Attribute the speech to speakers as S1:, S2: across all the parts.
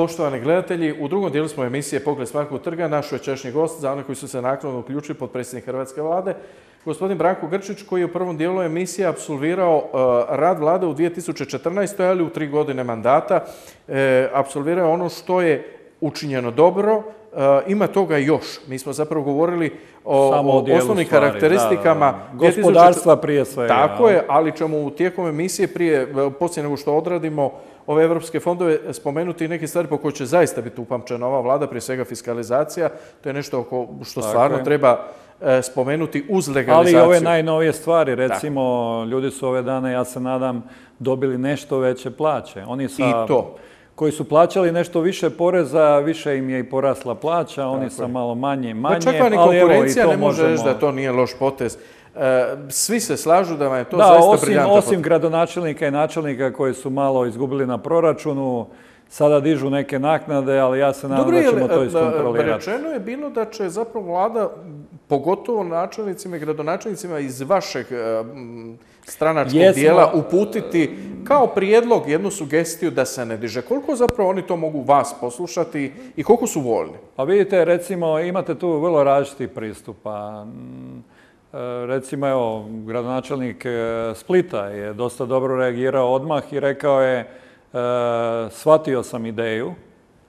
S1: Poštovani gledatelji, u drugom dijelu smo emisije Pogled s Markovog trga. Naš večerašnji gost, za one koji su se naknadno uključili, potpredsjednik Hrvatske vlade, gospodin Branko Grčić, koji je u prvom dijelu emisije apsolvirao rad vlade u 2014. ali u 3 godine mandata. Apsolvirao ono što je učinjeno dobro. Ima toga još. Mi smo zapravo govorili o osnovnim karakteristikama
S2: gospodarstva prije svega.
S1: Tako je, ali ćemo u tijekom emisije poslije nego što odradimo ove evropske fondove spomenuti neke stvari po koje će zaista biti upamćena ova vlada, prije svega fiskalizacija. To je nešto što stvarno treba spomenuti uz legalizaciju.
S2: Ali i ove najnovije stvari, recimo, ljudi su ove dane, ja se nadam, dobili nešto veće plaće. Oni koji su plaćali nešto više poreza, više im je i porasla plaća, oni sa malo manje,
S1: pa čak ni konkurencija ne može reći da to nije loš potez. Svi se slažu da vam je to zaista briljantno.
S2: Osim gradonačelnika i načelnika koji su malo izgubili na proračunu, sada dižu neke naknade, ali ja se nadam da ćemo to iskontrolirati.
S1: Rečeno je bilo da će zapravo vlada, pogotovo načelnicima i gradonačelnicima iz vašeg stranačkog dijela, uputiti kao prijedlog jednu sugestiju da se ne diže. Koliko zapravo oni to mogu vas poslušati i koliko su voljni?
S2: Pa vidite, recimo, imate tu vrlo različitih pristupa. Recimo, evo, gradonačelnik Splita je dosta dobro reagirao odmah i rekao je shvatio sam ideju,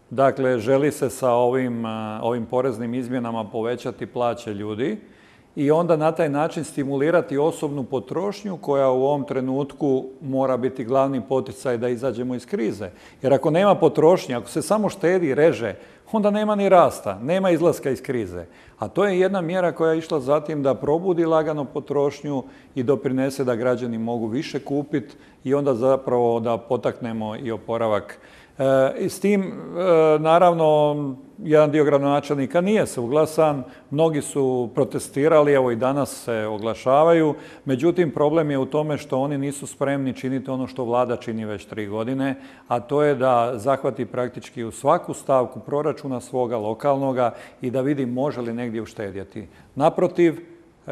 S2: dakle, želi se sa ovim poreznim izmjenama povećati plaće ljudi i onda na taj način stimulirati osobnu potrošnju koja u ovom trenutku mora biti glavni poticaj da izađemo iz krize. Jer ako nema potrošnje, ako se samo štedi i reže, onda nema ni rasta, nema izlaska iz krize. A to je jedna mjera koja je išla zatim da probudi lagano potrošnju i doprinese da građani mogu više kupiti i onda zapravo da potaknemo i oporavak. I s tim, naravno, jedan dio gradonačelnika nije suglasan, mnogi su protestirali, evo i danas se oglašavaju, međutim problem je u tome što oni nisu spremni činiti ono što vlada čini već 3 godine, a to je da zahvati praktički u svaku stavku proračuna svoga lokalnoga i da vidi može li negdje uštedjeti. Naprotiv,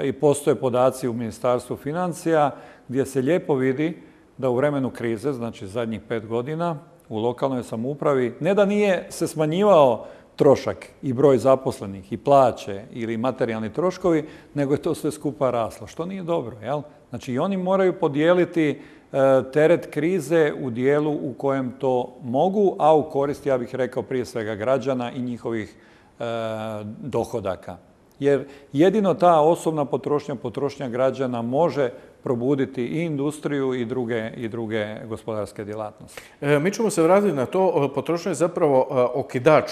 S2: i postoje podaci u Ministarstvu financija gdje se lijepo vidi da u vremenu krize, znači zadnjih 5 godina, u lokalnoj samoupravi, ne da nije se smanjivao trošak i broj zaposlenih i plaće ili materijalni troškovi, nego je to sve skupa raslo, što nije dobro, jel? Znači i oni moraju podijeliti teret krize u dijelu u kojem to mogu, a u korist, ja bih rekao, prije svega građana i njihovih dohodaka. Jer jedino ta osobna potrošnja građana može probuditi i industriju i druge gospodarske djelatnosti.
S1: Mi ćemo se vratiti na to. Potrošnja je zapravo okidač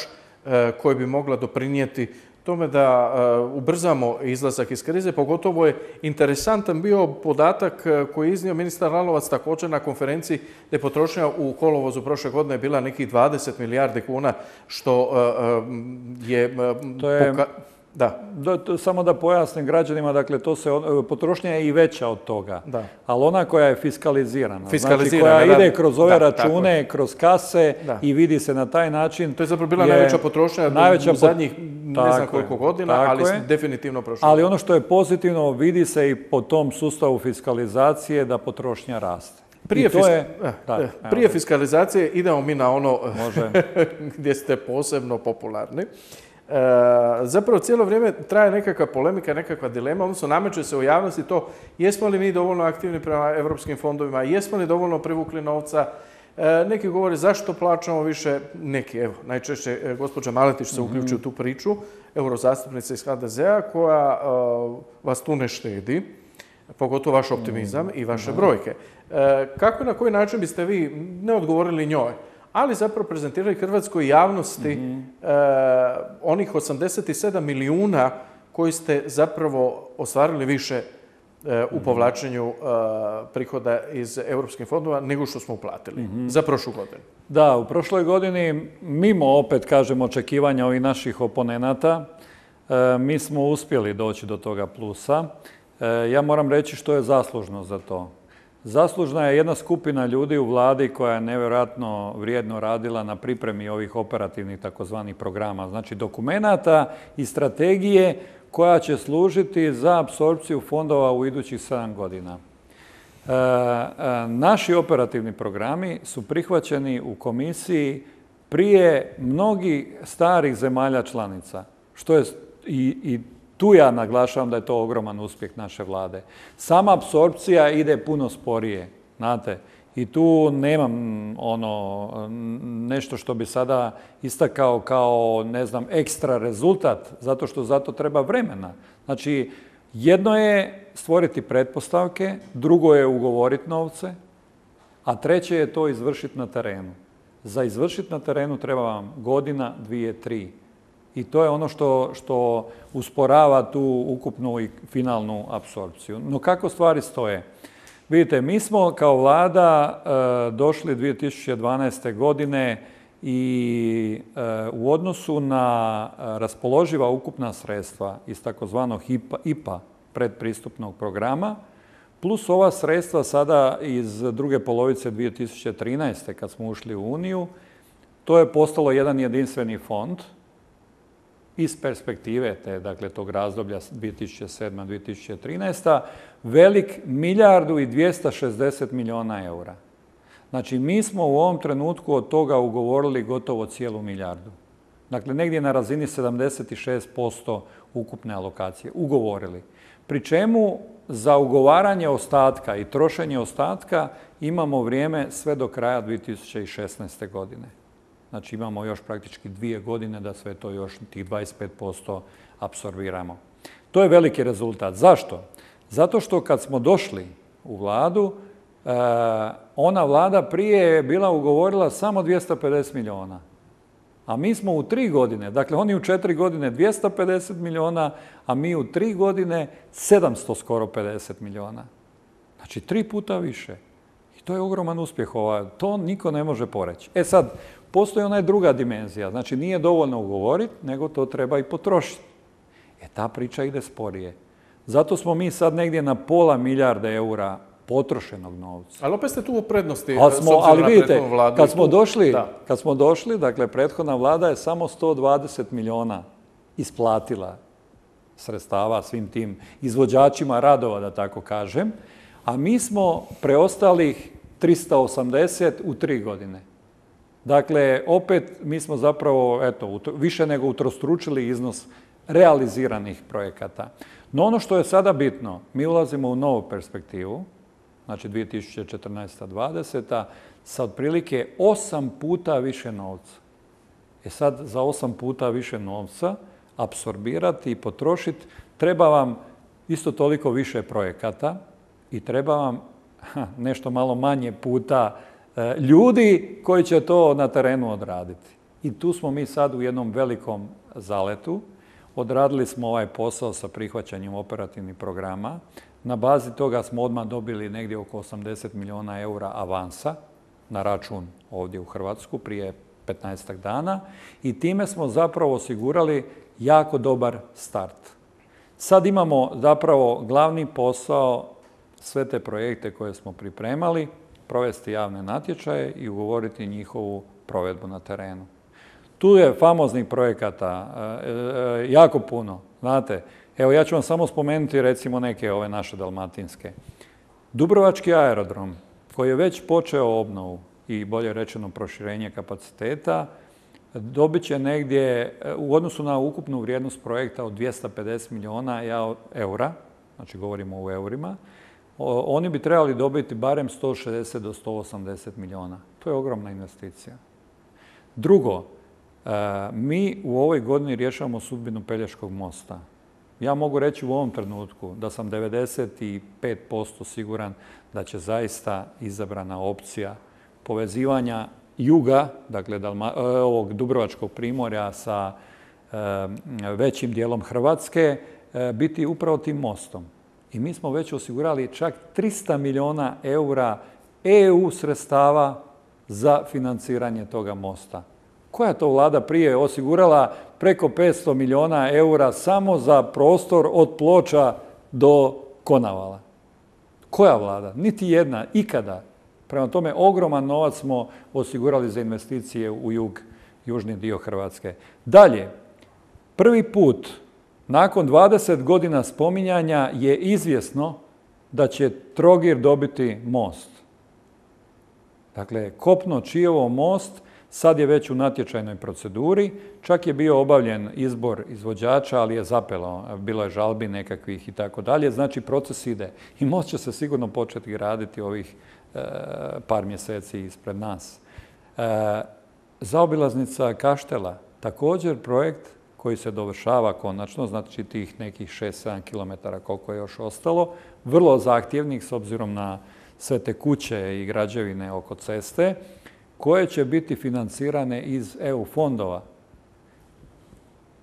S1: koji bi mogla doprinijeti tome da ubrzamo izlazak iz krize. Pogotovo je interesantan bio podatak koji je iznio ministar Lalovac također na konferenciji da je potrošnja u kolovozu prošle godine bila nekih 20 milijardi kuna, što je...
S2: Da. Samo da pojasnim građanima, dakle, potrošnja je i veća od toga, ali ona koja je fiskalizirana, znači koja ide kroz ove račune, kroz kase i vidi se na taj način.
S1: To je zapravo bila najveća potrošnja u zadnjih ne znam koliko godina, ali definitivno prošlo.
S2: Ali ono što je pozitivno, vidi se i po tom sustavu fiskalizacije da potrošnja raste.
S1: Prije fiskalizacije idemo mi na ono gdje ste posebno popularni. Zapravo cijelo vrijeme traje nekakva polemika, nekakva dilema, odnosno nameće se u javnosti to jesmo li mi dovoljno aktivni prema europskim fondovima, jesmo li dovoljno privukli novca. Neki govore zašto plaćamo više, neki, evo, najčešće gospođa Maletić se uključi u tu priču, eurozastupnica iz HDZ-a koja vas tu ne štedi, pogotovo vaš optimizam i vaše brojke. Kako i na koji način biste vi ne odgovorili njoj, ali zapravo prezentirali hrvatskoj javnosti onih 87 milijuna koji ste zapravo ostvarili više u povlačenju prihoda iz europskih fondova nego što smo uplatili za prošlu godinu.
S2: Da, u prošloj godini, mimo opet, kažem, očekivanja ovih naših oponenata, mi smo uspjeli doći do toga plusa. Ja moram reći što je zaslužno za to. Zaslužna je jedna skupina ljudi u vladi koja je nevjerojatno vrijedno radila na pripremi ovih operativnih takozvanih programa, znači dokumenata i strategije koja će služiti za apsorpciju fondova u idućih 7 godina. Naši operativni programi su prihvaćeni u komisiji prije mnogih starih zemalja članica, što je i tu ja naglašavam da je to ogroman uspjeh naše vlade. Sama apsorpcija ide puno sporije, znate, i tu nemam nešto što bi sada istakao kao, ne znam, ekstra rezultat, zato što za to treba vremena. Znači, jedno je stvoriti pretpostavke, drugo je ugovoriti novce, a treće je to izvršiti na terenu. Za izvršiti na terenu treba vam godina, 2, 3. I to je ono što usporava tu ukupnu i finalnu apsorpciju. No kako stvari stoje? Vidite, mi smo kao vlada došli 2012. godine i u odnosu na raspoloživa ukupna sredstva iz takozvanog IPA predpristupnog programa, plus ova sredstva sada iz druge polovice 2013. kad smo ušli u Uniju, to je postalo jedan jedinstveni fond iz perspektive dakle, tog razdoblja 2007-2013. velik 1.260 milijuna eura. Znači, mi smo u ovom trenutku od toga ugovorili gotovo cijelu milijardu. Dakle, negdje na razini 76% ukupne alokacije ugovorili. Pri čemu za ugovaranje ostatka i trošenje ostatka imamo vrijeme sve do kraja 2016. godine. Znači imamo još praktički 2 godine da sve to još tih 25% apsorbiramo. To je veliki rezultat. Zašto? Zato što kad smo došli u vladu, ona vlada prije je bila ugovorila samo 250 milijuna. A mi smo u 3 godine, dakle oni u 4 godine 250 milijuna, a mi u 3 godine 700 skoro 50 milijuna. Znači 3 puta više. I to je ogroman uspjeh. To niko ne može poreći. E sad, postoji ona druga dimenzija. Znači nije dovoljno ugovoriti, nego to treba i potrošiti. Ta priča ide sporije. Zato smo mi sad negdje na pola milijarde eura potrošenog novca.
S1: Ali opet ste tu u prednosti.
S2: Ali vidite, kad smo došli, dakle, prethodna vlada je samo 120 milijuna isplatila sredstava svim tim izvođačima radova, da tako kažem, a mi smo preostalih 380 u 3 godine. Dakle, opet mi smo zapravo, više nego utrostručili iznos realiziranih projekata. No ono što je sada bitno, mi ulazimo u novu perspektivu, znači 2014-2020, sa otprilike 8 puta više novca. Sad za 8 puta više novca apsorbirati i potrošiti treba vam isto toliko više projekata i treba vam nešto malo manje puta ljudi koji će to na terenu odraditi. I tu smo mi sad u jednom velikom zaletu. Odradili smo ovaj posao sa prihvaćanjem operativnih programa. Na bazi toga smo odmah dobili negdje oko 80 milijuna eura avansa na račun ovdje u Hrvatsku prije 15 dana i time smo zapravo osigurali jako dobar start. Sad imamo zapravo glavni posao, sve te projekte koje smo pripremali, provesti javne natječaje i ugovoriti njihovu provedbu na terenu. Tu je famoznih projekata jako puno, znate. Evo, ja ću vam samo spomenuti recimo neke ove naše dalmatinske. Dubrovački aerodrom, koji je već počeo obnovu i bolje rečeno proširenje kapaciteta, dobit će negdje u odnosu na ukupnu vrijednost projekta od 250 milijuna eura, znači govorimo u eurima, oni bi trebali dobiti barem 160 do 180 milijuna. To je ogromna investicija. Drugo, mi u ovoj godini rješavamo sudbinu Pelješkog mosta. Ja mogu reći u ovom trenutku da sam 95% siguran da će zaista izabrana opcija povezivanja juga, dakle ovog Dubrovačkog primorja sa većim dijelom Hrvatske, biti upravo tim mostom. I mi smo već osigurali čak 300 milijuna eura EU sredstava za financiranje toga mosta. Koja je to vlada prije osigurala preko 500 milijuna eura samo za prostor od Ploča do Konavala? Koja vlada? Niti jedna, ikada. Prema tome, ogroman novac smo osigurali za investicije u južni dio Hrvatske. Dalje, prvi put nakon 20 godina spominjanja je izvjesno da će Trogir dobiti most. Dakle, Kopno-Čiovo most Sad je već u natječajnoj proceduri, čak je bio obavljen izbor izvođača, ali je zapelo, bilo je žalbi nekakvih i tako dalje, znači proces ide. I most će se sigurno početi graditi ovih par mjeseci ispred nas. Zaobilaznica Kaštela, također projekt koji se dovršava konačno, znači tih nekih 6-7 km koliko je još ostalo, vrlo zahtjevnih s obzirom na sve te kuće i građevine oko ceste, koje će biti financirane iz EU fondova.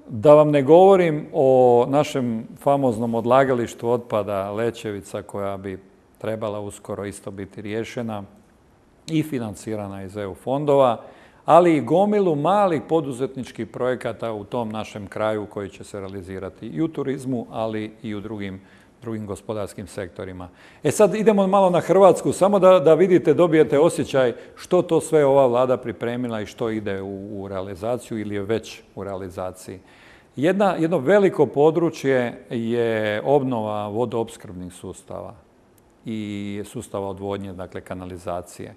S2: Da vam ne govorim o našem famoznom odlagalištu otpada Lećevica, koja bi trebala uskoro isto biti riješena i financirana iz EU fondova, ali i gomilu malih poduzetničkih projekata u tom našem kraju koji će se realizirati i u turizmu, ali i u drugim gospodarskim sektorima. Sad idemo malo na Hrvatsku, samo da vidite, dobijete osjećaj što to sve ova vlada pripremila i što ide u realizaciju ili je već u realizaciji. Jedno veliko područje je obnova vodoopskrbnih sustava i sustava odvodnje, dakle kanalizacije.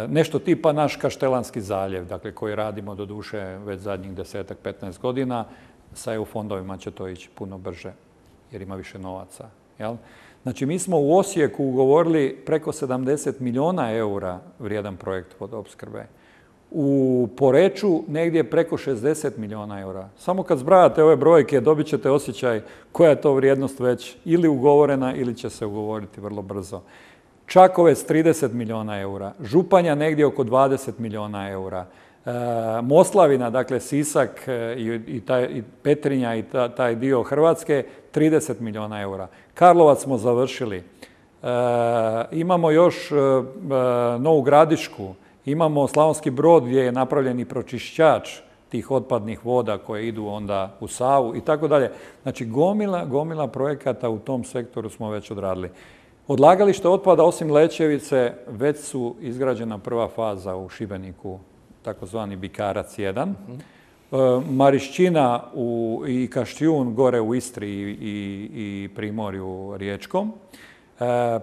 S2: Nešto tipa naš Kaštelanski zaljev, dakle koji radimo doduše već zadnjih 10-15 godina, sa EU fondovima će to ići puno brže jer ima više novaca. Jel? Znači mi smo u Osijeku ugovorili preko 70 milijuna eura vrijedan projekt vodoopskrbe. U Poreču negdje preko 60 milijuna eura. Samo kad zbrajate ove brojke dobit ćete osjećaj koja je to vrijednost već ili ugovorena ili će se ugovoriti vrlo brzo. Čakovec 30 milijuna eura, Županja negdje oko 20 milijuna eura, Moslavina, dakle Sisak i Petrinja i taj dio Hrvatske 30 milijuna eura. Karlovac smo završili. Imamo još Novu Gradišku, imamo Slavonski Brod gdje je napravljen i pročišćač tih otpadnih voda koje idu onda u Savu i tako dalje. Znači gomila projekata u tom sektoru smo već odradili. Odlagalište otpada osim Lećevice već su izgrađena prva faza u Šibeniku, takozvani Bikarac 1. Marišćina i Kaštijun gore u Istri i Primorju riječkom.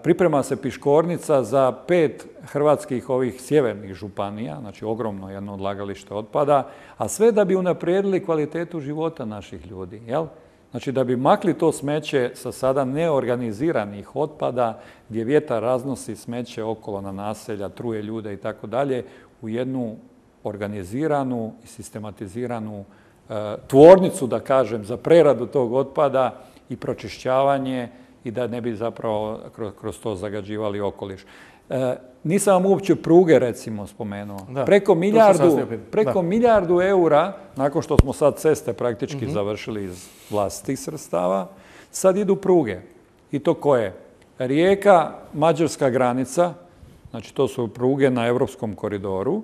S2: Priprema se Piškornica za 5 hrvatskih ovih sjevernih županija, znači ogromno jedno odlagalište otpada, a sve da bi unaprijedili kvalitetu života naših ljudi, jel? Znači da bi makli to smeće sa sada neorganiziranih otpada gdje vjetar raznosi smeće okolo na naselja, truje ljude i tako dalje, u jednu organiziranu i sistematiziranu tvornicu, da kažem, za preradu tog otpada i pročišćavanje i da ne bi zapravo kroz to zagađivali okoliš. Nisam vam uopće pruge, recimo, spomenuo. Preko milijardu eura, nakon što smo sad ceste praktički završili iz vlastitih sredstava, sad idu pruge. I to koje? Rijeka, mađarska granica, znači to su pruge na europskom koridoru.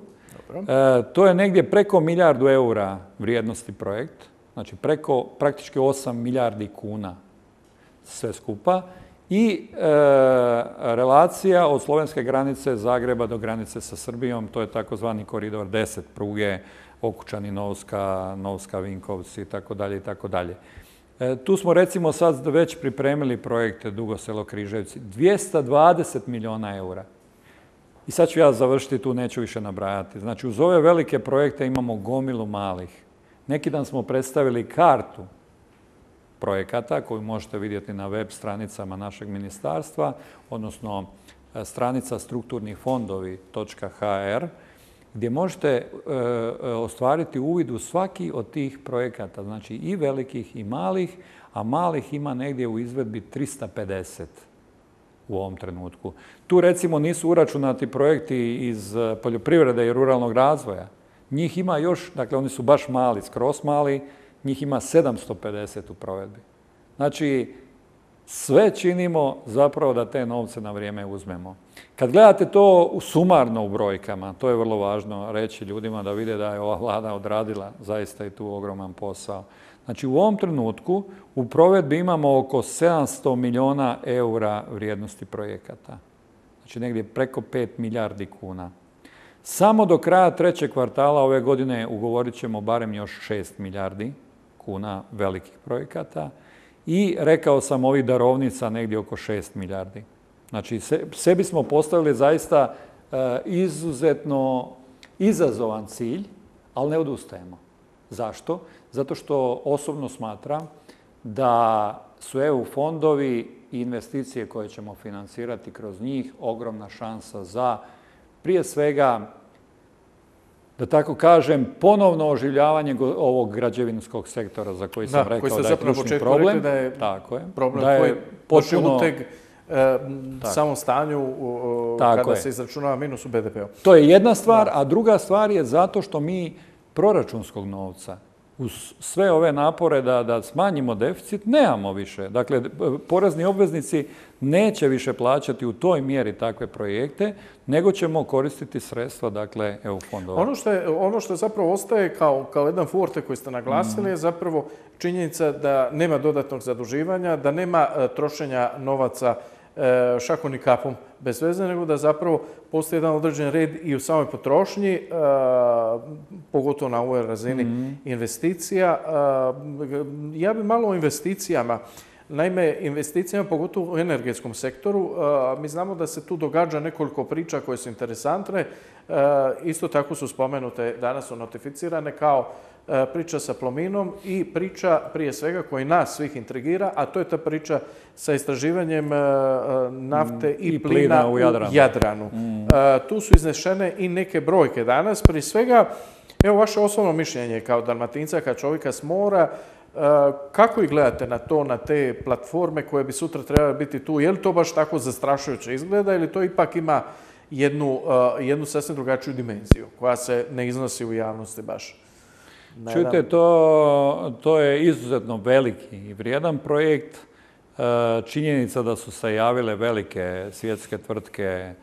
S2: To je negdje preko milijardu eura vrijednosti projekt, znači preko praktički 8 milijardi kuna sve skupa. I relacija od slovenske granice Zagreba do granice sa Srbijom, to je takozvani koridor 10 pruge, Okučani, Novska, Vinkovci i tako dalje i tako dalje. Tu smo recimo sad već pripremili projekte Dugo Selo-Križevci, 220 milijuna eura. I sad ću ja završiti tu, neću više nabrajati. Znači uz ove velike projekte imamo gomilu malih. Neki dan smo predstavili kartu projekata koju možete vidjeti na web stranicama našeg ministarstva, odnosno stranica strukturnifondovi.hr, gdje možete ostvariti uvid u svaki od tih projekata, znači i velikih i malih, a malih ima negdje u izvedbi 350 u ovom trenutku. Tu recimo nisu uračunati projekti iz poljoprivrede i ruralnog razvoja. Njih ima još, dakle oni su baš mali, skroz mali, njih ima 750 u provedbi. Znači, sve činimo zapravo da te novce na vrijeme uzmemo. Kad gledate to sumarno u brojkama, to je vrlo važno reći ljudima da vide da je ova vlada odradila zaista i tu ogroman posao. Znači, u ovom trenutku u provedbi imamo oko 700 milijuna eura vrijednosti projekata. Znači, negdje preko 5 milijardi kuna. Samo do kraja 3. kvartala ove godine ugovorit ćemo barem još 6 milijardi kuna velikih projekata i rekao sam ovih darovnica negdje oko 6 milijardi. Znači sebi smo postavili zaista izazovan cilj, ali ne odustajemo. Zašto? Zato što osobno smatram da su EU fondovi i investicije koje ćemo financirati kroz njih ogromna šansa za, prije svega, da tako kažem, ponovno oživljavanje ovog građevinskog sektora za koji sam rekao da je ključni problem.
S1: Da je
S2: tako je.
S1: Problem koji potpuno uteg samom stanju kada se izračunava minus u BDP-u.
S2: To je jedna stvar, a druga stvar je zato što mi proračunskog novca uz sve ove napore da smanjimo deficit, nemamo više. Dakle, porezni obveznici neće više plaćati u toj mjeri takve projekte, nego ćemo koristiti sredstva, dakle, EU fondova.
S1: Ono što zapravo ostaje kao jedan forte koji ste naglasili je zapravo činjenica da nema dodatnog zaduživanja, da nema trošenja novaca šakom i kapom bez veze, nego da zapravo postoji jedan određen red i u samoj potrošnji, pogotovo na ovoj razini investicija. Ja bi malo o investicijama. Naime, investicijama, pogotovo u energetskom sektoru, mi znamo da se tu događa nekoliko priča koje su interesantne. Isto tako su spomenute, danas su notificirane kao priča sa Plominom i priča prije svega koji nas svih intrigira, a to je ta priča sa istraživanjem nafte i plina u Jadranu. Tu su iznešene i neke brojke danas. Prije svega, evo vaše osobno mišljenje kao Dalmatinca, kao čovjeka s mora, kako i gledate na to, na te platforme koje bi sutra trebale biti tu? Je li to baš tako zastrašujuće izgleda ili to ipak ima jednu sasvim drugačiju dimenziju koja se ne iznosi u javnosti baš?
S2: Čujte, to je izuzetno veliki i vrijedan projekt. Činjenica da su se javile velike svjetske tvrtke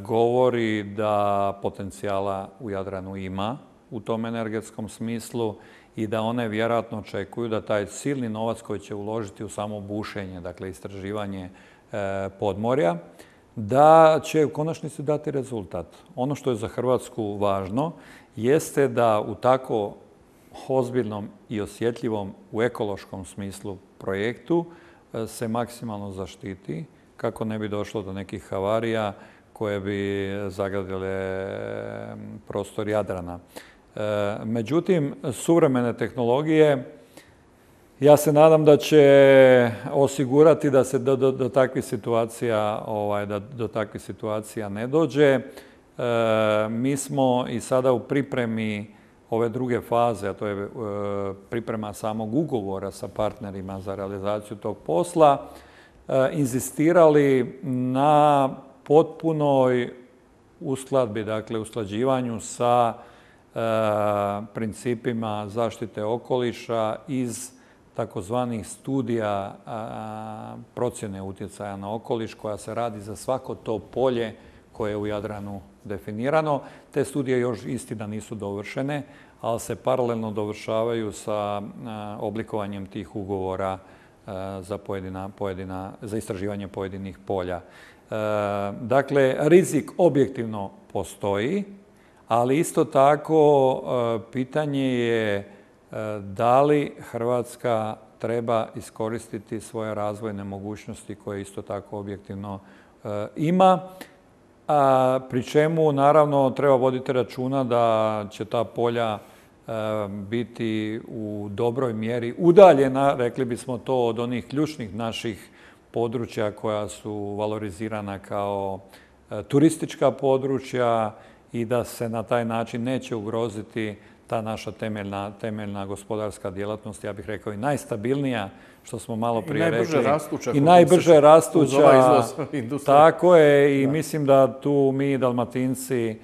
S2: govori da potencijala u Jadranu ima u tom energetskom smislu i da one vjerojatno očekuju da taj silni novac koji će uložiti u samo bušenje, dakle istraživanje podmorja, da će u konačnici dati rezultat. Ono što je za Hrvatsku važno jeste da u tako ozbiljnom i osjetljivom u ekološkom smislu projektu se maksimalno zaštiti kako ne bi došlo do nekih havarija koje bi zagadile prostor Jadrana. Međutim, suvremene tehnologije, ja se nadam da će osigurati da se do takvih situacija ne dođe. Mi smo i sada u pripremi ove druge faze, a to je priprema samog ugovora sa partnerima za realizaciju tog posla, inzistirali na potpunoj uskladbi, dakle usklađivanju sa principima zaštite okoliša iz takozvanih studija procjene utjecaja na okoliš koja se radi za svako to polje koje je u Jadranu definirano. Te studije još istina nisu dovršene, ali se paralelno dovršavaju sa oblikovanjem tih ugovora za istraživanje pojedinih polja. Dakle, rizik objektivno postoji, ali isto tako pitanje je da li Hrvatska treba iskoristiti svoje razvojne mogućnosti koje isto tako objektivno ima, pri čemu naravno treba voditi računa da će ta polja biti u dobroj mjeri udaljena, rekli bismo to, od onih ključnih naših područja koja su valorizirana kao turistička područja i da se na taj način neće ugroziti ta naša temeljna gospodarska djelatnost, ja bih rekao i najstabilnija, što smo malo prije rekli. I najbrže rastuća. Tako je i mislim da tu mi Dalmatinci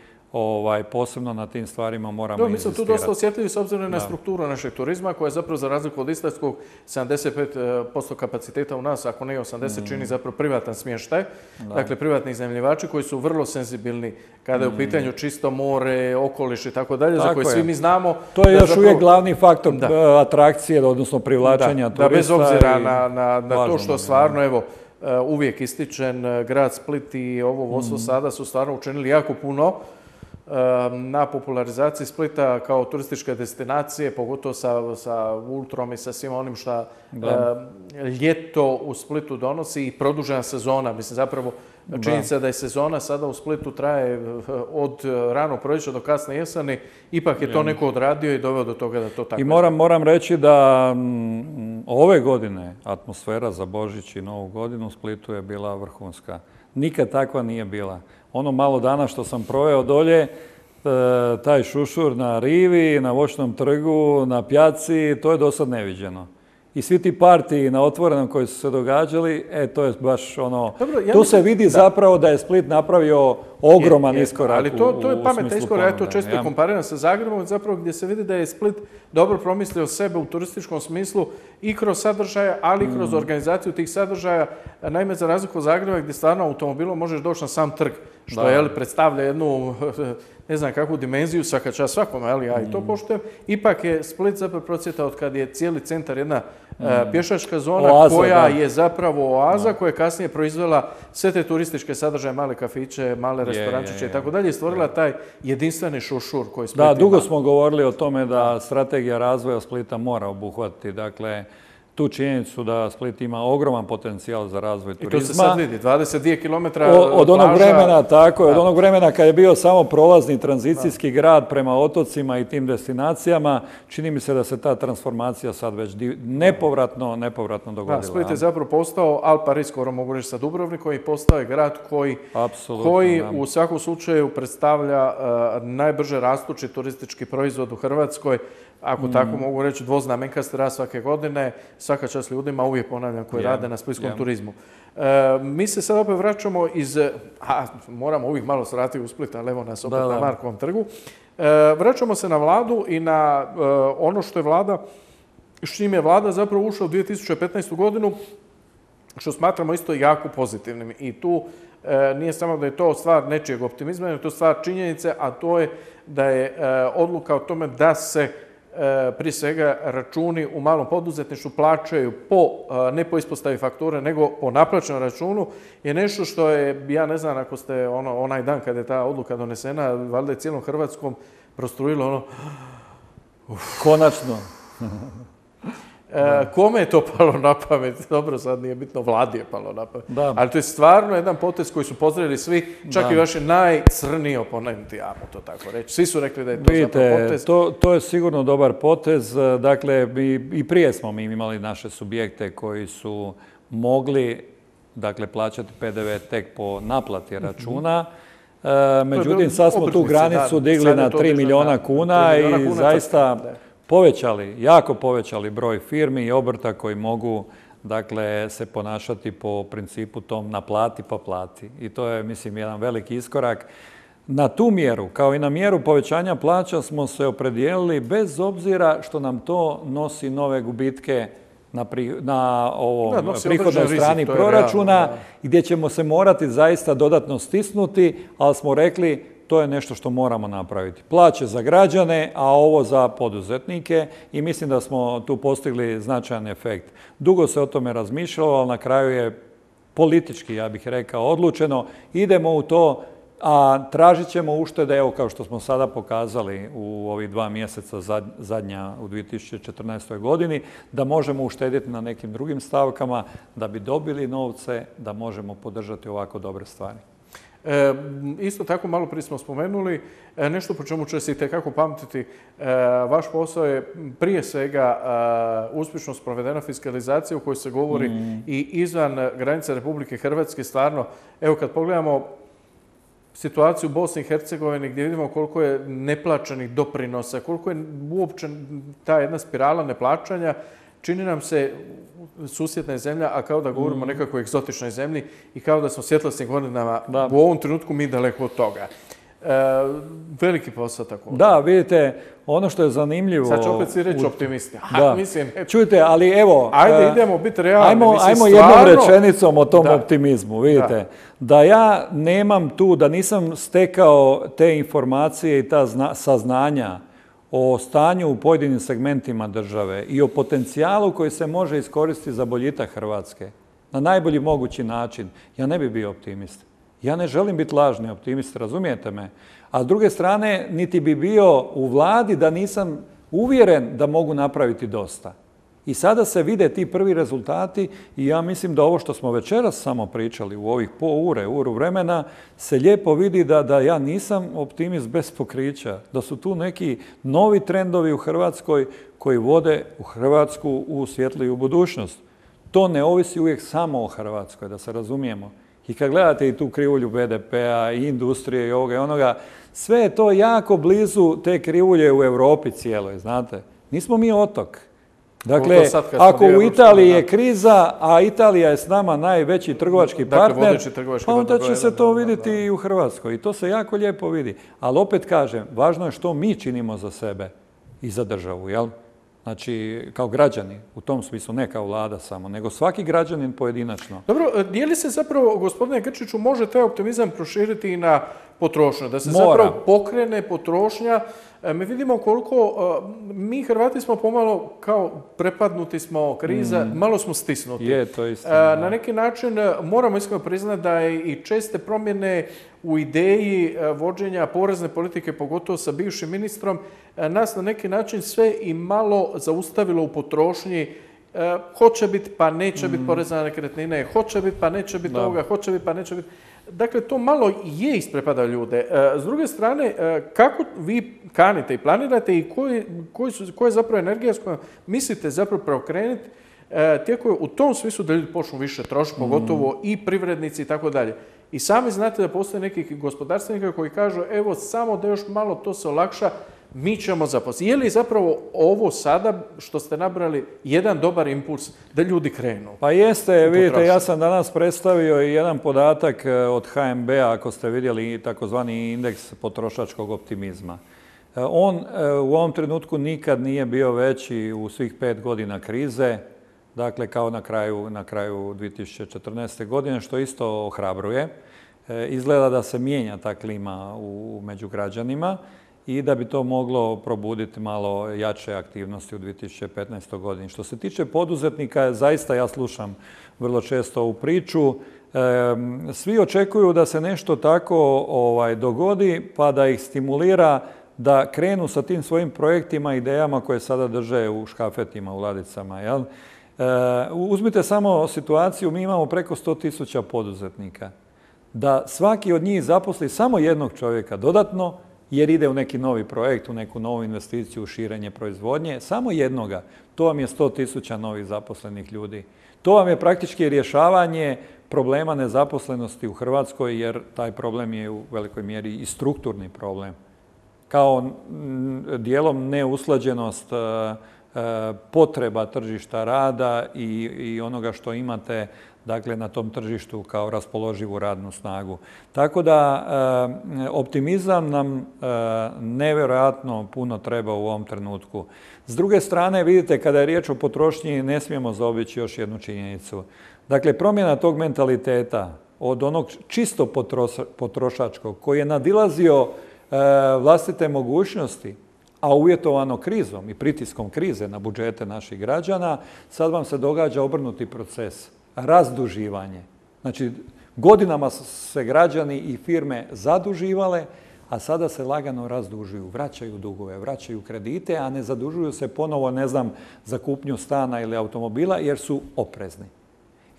S2: posebno na tim stvarima moramo inzistirati.
S1: Mi smo tu dosta osjetljivi s obzirom na strukturu našeg turizma koja je zapravo za razliku od istarskog 75% kapaciteta u nas, ako ne 80, čini zapravo privatan smještaj. Dakle, privatni iznajmljivači koji su vrlo senzibilni kada je u pitanju čisto more, okoliš i tako dalje, za koje svi mi znamo.
S2: To je još uvijek glavni faktor atrakcije, odnosno privlačenja turista.
S1: Bez obzira na to što stvarno, evo, uvijek ističen grad Split i ovo vodstvo sada su stvarno učinili jako puno na popularizaciji Splita kao turističke destinacije, pogotovo sa Ultrom i sa svim onim što ljeto u Splitu donosi i produžena sezona. Mislim, zapravo činjenica da je sezona sada u Splitu traje od ranog proljeća do kasne jeseni, ipak je to neko odradio i doveo do toga da to tako.
S2: I moram reći da ove godine atmosfera za Božić i Novu godinu u Splitu je bila vrhunska. Nikad takva nije bila. Ono malo dana što sam proveo dolje, taj šušur na rivi, na Voćnom trgu, na pjaci, to je dosad neviđeno. I svi ti partiji na otvorenom koji su se događali, to je baš ono... Tu se vidi zapravo da je Split napravio ogroman iskorak.
S1: Ali to je pametan iskorak, ja to često kompariram sa Zagrebom, zapravo gdje se vidi da je Split dobro promislio sebe u turističkom smislu i kroz sadržaje, ali i kroz organizaciju tih sadržaja. Naime, za razliku od Zagreba gdje stvarno automobilom možeš doći na sam trg, što predstavlja jednu, ne znam kakvu dimenziju, svaka čast svakome, ali ja i to poštujem. Ipak je Split zapravo procvjetao od kad je cijeli centar jedna pješačka zona koja je zapravo oaza, koja je kasnije proizvela sve te turističke sadržaje, male kafiće, male restorančiće i tako dalje, i stvorila taj jedinstveni šušur koji Split ima.
S2: Da, dugo smo govorili o tome da strategija razvoja Splita mora obuhvatiti, dakle, tu činjenicu da Split ima ogroman potencijal za razvoj turizma.
S1: I to se sad vidi, 22 km
S2: od onog vremena, tako je, od onog vremena kad je bio samo prolazni tranzicijski grad prema otocima i tim destinacijama, čini mi se da se ta transformacija sad već nepovratno dogodila.
S1: Da, Split je zapravo postao al pari, skoro mogu reći, sa Dubrovnikom, i postao je grad koji u svakom slučaju predstavlja najbrže rastući turistički proizvod u Hrvatskoj. Ako tako mogu reći, dvoznamenkasti rast svake godine, svaka čast ljudima, uvijek ponavljam, koji rade na splitskom turizmu. Mi se sad opet vraćamo moramo uvijek malo se vratiti u Split, ali evo nas opet na Markovom trgu. Vraćamo se na vladu i na ono što je vlada, s čim je vlada zapravo ušla u 2015. godinu, što smatramo isto jako pozitivnim. I tu nije samo da je to stvar nečijeg optimizma, nego je to stvar činjenice, a to je da je odluka o tome da se prije svega računi u malom poduzetništvu plaćaju ne po ispostavi fakture, nego po naplaćenom računu, je nešto što je, ja ne znam, ako ste onaj dan kada je ta odluka donesena, valjda je cijelom Hrvatskom prostrujilo
S2: Konačno.
S1: Kome je to palo na pamet? Dobro, sad nije bitno, vladi je palo na pamet. Ali to je stvarno jedan potez koji su pozdravili svi, čak i vaši najcrniji oponenti, ajmo to tako reći. Svi su rekli da je to zapravo potez.
S2: To je sigurno dobar potez. Dakle, i prije smo mi imali naše subjekte koji su mogli plaćati PDV tek po naplati računa. Međutim, sad smo tu granicu digli na 3 milijuna kuna i zaista jako povećali broj firmi i obrta koji mogu se ponašati po principu tom naplati pa plati. I to je, mislim, jedan veliki iskorak. Na tu mjeru, kao i na mjeru povećanja plaća, smo se opredijelili bez obzira što nam to nosi nove gubitke na prihodnoj strani proračuna, gdje ćemo se morati zaista dodatno stisnuti, ali smo rekli to je nešto što moramo napraviti. Plaće za građane, a ovo za poduzetnike, i mislim da smo tu postigli značajan efekt. Dugo se o tome razmišljalo, ali na kraju je politički, ja bih rekao, odlučeno. Idemo u to, a tražit ćemo uštede, evo kao što smo sada pokazali u ovih 2 mjeseca zadnja u 2014. godini, da možemo uštedjeti na nekim drugim stavkama, da bi dobili novce, da možemo podržati ovako dobre stvari.
S1: Isto tako, malo prije smo spomenuli, nešto po čemu će se itekako pamtiti. Vaš posao je prije svega uspješno sprovedena fiskalizacija u kojoj se govori i izvan granica Republike Hrvatske. Stvarno, evo kad pogledamo situaciju u Bosni i Hercegovini, gdje vidimo koliko je neplaćenih doprinosa, koliko je uopće ta jedna spirala neplaćanja, čini nam se susjedna zemlja, a kao da govorimo o nekakvoj egzotičnoj zemlji i kao da smo svjetlosnim godinama u ovom trenutku mi daleko od toga. Veliki posao tako.
S2: Da, vidite, ono što je zanimljivo...
S1: Sad će opet svi reći optimisti.
S2: Čujte, ali evo...
S1: Ajde, idemo biti realni.
S2: Ajmo jednom rečenicom o tom optimizmu. Vidite, da ja nemam tu, da nisam stekao te informacije i ta saznanja o stanju u pojedinim segmentima države i o potencijalu koji se može iskoristiti za boljitak Hrvatske na najbolji mogući način, ja ne bi bio optimist. Ja ne želim biti lažni optimist, razumijete me? A s druge strane, niti bi bio u vladi da nisam uvjeren da mogu napraviti dosta. I sada se vide ti prvi rezultati i ja mislim da ovo što smo večeras samo pričali u ovih uru vremena, se lijepo vidi da ja nisam optimist bez pokrića, da su tu neki novi trendovi u Hrvatskoj koji vode u Hrvatsku u svjetliju budućnost. To ne ovisi uvijek samo o Hrvatskoj, da se razumijemo. I kad gledate i tu krivulju BDP-a i industrije i ovoga i onoga, sve je to jako blizu te krivulje u Europi cijeloj, znate. Nismo mi otok. Dakle, ako u Italiji je kriza, a Italija je s nama najveći trgovački partner, pa onda će se to vidjeti i u Hrvatskoj. I to se jako lijepo vidi. Ali opet kažem, važno je što mi činimo za sebe i za državu, jel? Znači, kao građani, u tom smislu, ne kao vlada samo, nego svaki građanin pojedinačno.
S1: Dobro, je li se zapravo, gospodine Grčiću, može taj optimizam proširiti i na potrošnju? Da se zapravo pokrene potrošnja. Mi vidimo koliko, mi Hrvati smo pomalo kao prepadnuti smo kriza, malo smo stisnuti.
S2: Je, to je istina.
S1: Na neki način moramo iskreno priznati da je i česte promjene u ideji vođenja porezne politike, pogotovo sa bivšim ministrom, nas na neki način sve i malo zaustavilo u potrošnji. Hoće biti pa neće biti poreza na nekretnine, hoće biti pa neće biti ovoga, hoće biti pa neće biti. Dakle, to malo je isprepada ljude. S druge strane, kako vi kanite i planirate i koja je zapravo energija s kojom mislite zapravo preokrenuti tijekom u tom smislu da ljudi počnu više trošiti, pogotovo i privrednici i tako dalje. I sami znate da postoje neki gospodarstvenika koji kažu evo samo da još malo to se olakša, mi ćemo zaposliti. Je li zapravo ovo sada što ste nabrali jedan dobar impuls da ljudi krenu?
S2: Pa jeste, vidite, ja sam danas predstavio i jedan podatak od HNB-a, ako ste vidjeli takozvani indeks potrošačkog optimizma. On u ovom trenutku nikad nije bio veći u svih 5 godina krize, dakle kao na kraju 2014. godine, što isto ohrabruje. Izgleda da se mijenja ta klima među građanima i da bi to moglo probuditi malo jače aktivnosti u 2015. godini. Što se tiče poduzetnika, zaista ja slušam vrlo često ovu priču. Svi očekuju da se nešto tako dogodi pa da ih stimulira da krenu sa tim svojim projektima, idejama koje sada drže u škafetima, u ladicama. Jel? Uzmite samo situaciju, mi imamo preko 100.000 poduzetnika. Da svaki od njih zaposli samo jednog čovjeka dodatno, jer ide u neki novi projekt, u neku novu investiciju, u širenje proizvodnje, samo jednoga. To vam je 100.000 novih zaposlenih ljudi. To vam je praktički rješavanje problema nezaposlenosti u Hrvatskoj, jer taj problem je u velikoj mjeri i strukturni problem. Kao dijelom neusklađenost potreba tržišta rada i onoga što imate dakle, na tom tržištu kao raspoloživu radnu snagu. Tako da optimizam nam nevjerojatno puno treba u ovom trenutku. S druge strane, vidite, kada je riječ o potrošnji, ne smijemo zaobići još jednu činjenicu. Dakle, promjena tog mentaliteta od onog čisto potrošačkog koji je nadilazio vlastite mogućnosti, a uvjetovano krizom i pritiskom krize na budžete naših građana, sad vam se događa obrnuti proces. Razduživanje. Znači, godinama se građani i firme zaduživale, a sada se lagano razdužuju, vraćaju dugove, vraćaju kredite, a ne zadužuju se ponovo, ne znam, za kupnju stana ili automobila, jer su oprezni.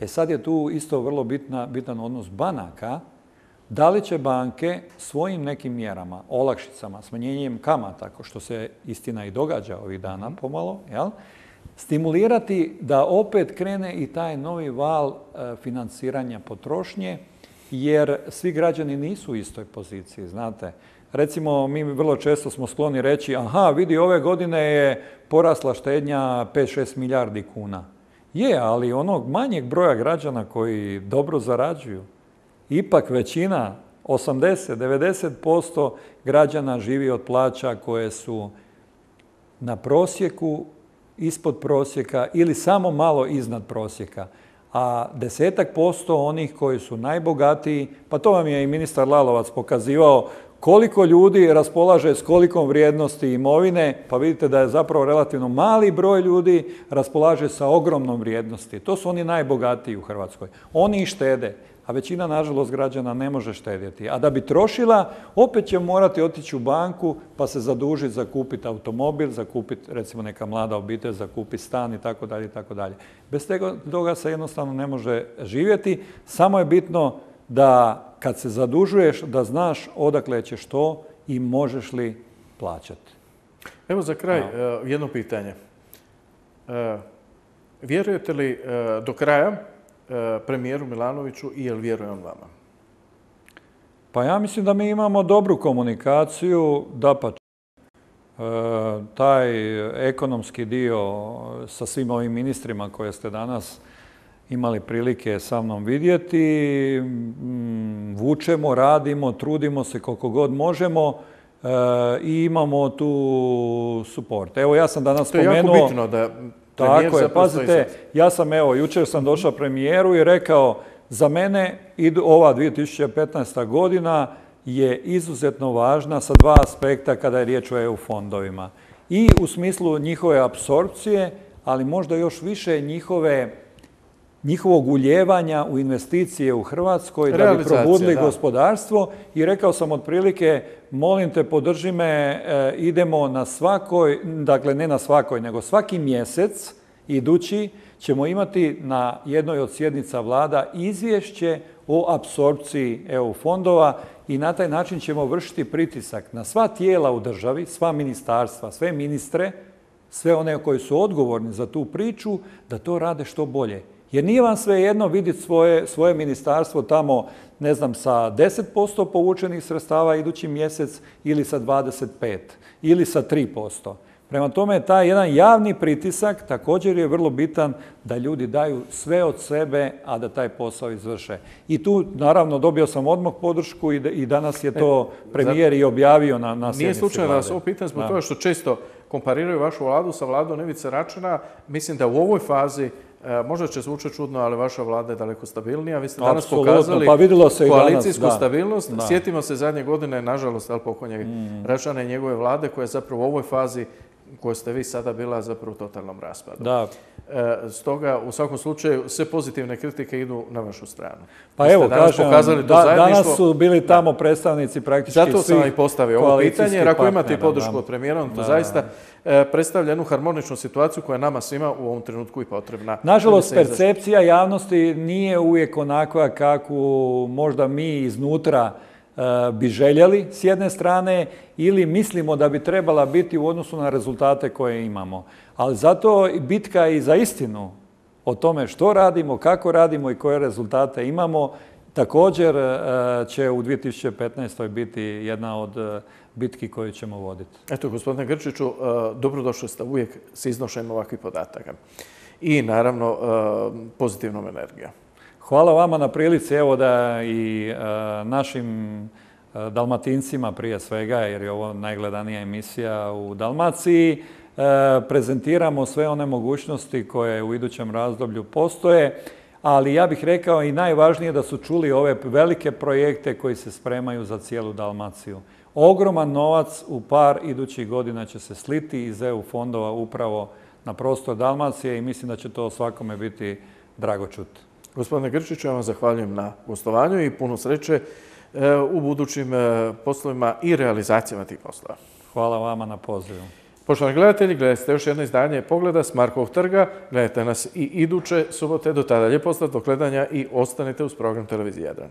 S2: Sad je tu isto vrlo bitan odnos banaka. Da li će banke svojim nekim mjerama, olakšicama, smanjenjem kamata, što se istina i događa ovih dana pomalo, jel? Stimulirati da opet krene i taj novi val financiranja potrošnje, jer svi građani nisu u istoj poziciji, znate. Recimo, mi vrlo često smo skloni reći, aha, vidi, ove godine je porasla štednja 5-6 milijardi kuna. Je, ali onog manjeg broja građana koji dobro zarađuju, ipak većina, 80-90% građana živi od plaća koje su na prosjeku, ispod prosjeka ili samo malo iznad prosjeka. A 10% onih koji su najbogatiji, pa to vam je i ministar Lalovac pokazivao, koliko ljudi raspolaže s kolikom vrijednosti imovine, pa vidite da je zapravo relativno mali broj ljudi raspolaže sa ogromnom vrijednosti. To su oni najbogatiji u Hrvatskoj. Oni štede. a većina, nažalost, građana ne može štedjeti. A da bi trošila, opet će morati otići u banku pa se zadužiti za kupiti automobil, za kupiti, recimo, neka mlada obitelj, za kupiti stan i tako dalje, i tako dalje. Bez toga se jednostavno ne može živjeti. Samo je bitno da kad se zadužuješ, da znaš odakle ćeš to i možeš li plaćati.
S1: Evo za kraj jedno pitanje. Vjerujete li do kraja premijeru Milanoviću i jel vjeruje on vama?
S2: Pa ja mislim da mi imamo dobru komunikaciju, dapače. Taj ekonomski dio sa svim ovim ministrima koje ste danas imali prilike sa mnom vidjeti, vučemo, radimo, trudimo se koliko god možemo i imamo tu suport. Evo, ja sam danas spomenuo...
S1: To je jako bitno da...
S2: Tako je, pazite, ja sam, evo, jučer sam došao premijeru i rekao, za mene ova 2015. godina je izuzetno važna sa dva aspekta kada je riječ o EU fondovima. I u smislu njihove apsorpcije, ali možda još više njihovog uljevanja u investicije u Hrvatskoj da bi probudili gospodarstvo. I rekao sam otprilike, molim te, podrži me, idemo na svakoj, dakle ne na svakoj, nego svaki mjesec idući ćemo imati na jednoj od sjednica vlada izvješće o apsorpciji EU fondova i na taj način ćemo vršiti pritisak na sva tijela u državi, sva ministarstva, sve ministre, sve one koji su odgovorni za tu priču, da to rade što bolje. Jer nije vam svejedno vidjeti svoje ministarstvo tamo, ne znam, sa 10% povučenih sredstava idući mjesec ili sa 25% ili sa 3%. Prema tome, taj jedan javni pritisak također je vrlo bitan da ljudi daju sve od sebe, a da taj posao izvrše. I tu, naravno, dobio sam odmah podršku i danas je to premijer i objavio na sjednici vlade.
S1: Nije slučajno da vas ovo pitam zbog toga što često kompariraju vašu vladu sa vladom Ivice Račana. Mislim da u ovoj fazi možda će zvučati čudno, ali vaša vlada je daleko stabilnija. Vi ste danas pokazali koalicijsku stabilnost. Sjetimo se zadnje godine, nažalost, pokojnog Račana i njegove vlade, koja je zapravo u ovoj fazi u kojoj ste vi sada bila zapravo u totalnom raspadu. Stoga, u svakom slučaju, sve pozitivne kritike idu na vašu stranu.
S2: Pa evo, kažem, danas su bili tamo predstavnici praktički svih
S1: koalicijskih partnera. Zato sam i postavio ovo pitanje, jer ako imate podršku od premijera, to zaista predstavlja jednu harmoničnu situaciju koja je nama svima u ovom trenutku i potrebna.
S2: Nažalost, percepcija javnosti nije uvijek onakva kakvu možda mi iznutra bi željeli s jedne strane ili mislimo da bi trebala biti u odnosu na rezultate koje imamo. Ali zato bitka i za istinu o tome što radimo, kako radimo i koje rezultate imamo također će u 2015. biti jedna od bitki koju ćemo voditi.
S1: Eto, gospodine Grčiću, dobrodošli ste uvijek s iznošenjem ovakvih podataka. I naravno pozitivnom energijom.
S2: Hvala vama na prilici, evo da i našim Dalmatincima prije svega, jer je ovo najgledanija emisija u Dalmaciji, prezentiramo sve one mogućnosti koje u idućem razdoblju postoje, ali ja bih rekao i najvažnije da su čuli ove velike projekte koji se spremaju za cijelu Dalmaciju. Ogroman novac u par idućih godina će se sliti iz EU fondova upravo na prostor Dalmacije i mislim da će to svakome biti drago čuti.
S1: Gospodine Grčiću, ja vam zahvaljujem na gostovanju i puno sreće u budućim poslovima i realizacijama tih poslova.
S2: Hvala vama na pozivu.
S1: Poštovani gledatelji, gledajte još jedno izdanje Pogleda s Markovog trga. Gledajte nas i iduće subote. Do tada lijep pozdrav, do gledanja i ostanite uz program Televizije Jadran.